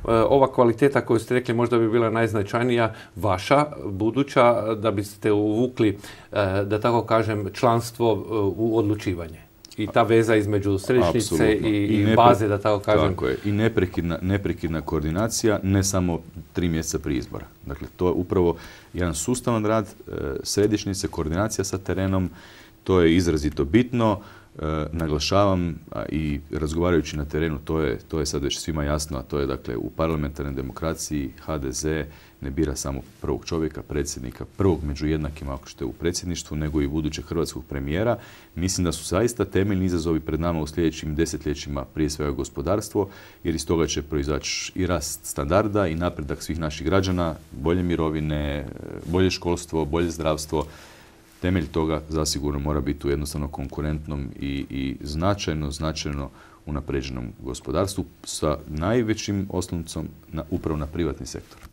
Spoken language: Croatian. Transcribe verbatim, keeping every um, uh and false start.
ova kvaliteta koju ste rekli možda bi bila najznačajnija, vaša, buduća, da biste uvukli, da tako kažem, članstvo u odlučivanje? I ta veza između središnjice i, i, i baze, da tako kažem. Tako je. I neprekidna, neprekidna koordinacija, ne samo tri mjeseca prije izbora. Dakle, to je upravo jedan sustavan rad e, središnjice, koordinacija sa terenom. To je izrazito bitno. E, naglašavam a, i razgovarajući na terenu, to je, to je sad već svima jasno, a to je dakle u parlamentarnoj demokraciji ha de ze ne bira samo prvog čovjeka, predsjednika, prvog među jednakima ako što je u predsjedništvu, nego i budućeg hrvatskog premijera. Mislim da su zaista temeljni izazovi pred nama u sljedećim desetljećima, prije svega gospodarstvo, jer iz toga će proizaći i rast standarda i napredak svih naših građana, bolje mirovine, bolje školstvo, bolje zdravstvo. Temelj toga zasigurno mora biti u jednostavno konkurentnom i, i značajno, značajno unapređenom gospodarstvu sa najvećim osloncom na, upravo na privatni sektor.